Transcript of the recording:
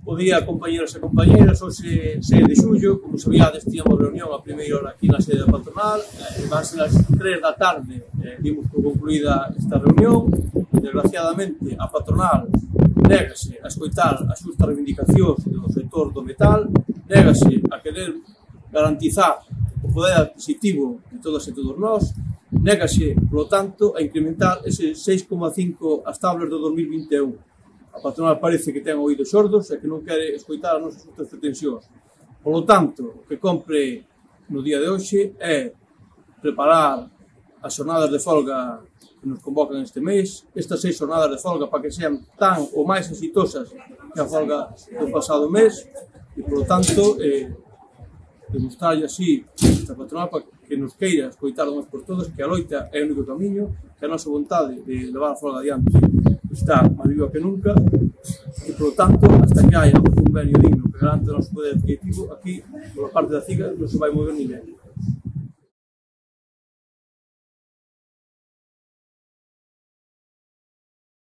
Bo día, compañeros e compañeras. Hoxe, 6 de xullo, como sabíades, tíamos reunión a primeira hora aquí na sede da patronal. Van ser as 3 da tarde, dimos por concluída esta reunión. Desgraciadamente, a patronal négase a escoitar as xustas reivindicacións do sector do metal, négase a querer garantizar o poder adquisitivo de todas e todos nós, négase, polo tanto, a incrementar ese 6,5 as tablas do 2021. A patronal parece que ten oídos xordos e que non quere escoitar as nosas outras pretensións. Polo tanto, o que compre no día de hoxe é preparar as xornadas de folga que nos convocan este mes, estas 6 xornadas de folga para que sean tan ou máis exitosas que a folga do pasado mes e, polo tanto, demostrarlle así esta patronal para que nos queira escoitar de unhas por todas que a loita é o único camiño, que a nosa vontade de levar a folga adiante está máis viva que nunca e, polo tanto, hasta que haya un convenio digno que garante o noso poder adquisitivo, aquí, pola parte da CIGA, non se vai mover ninguén.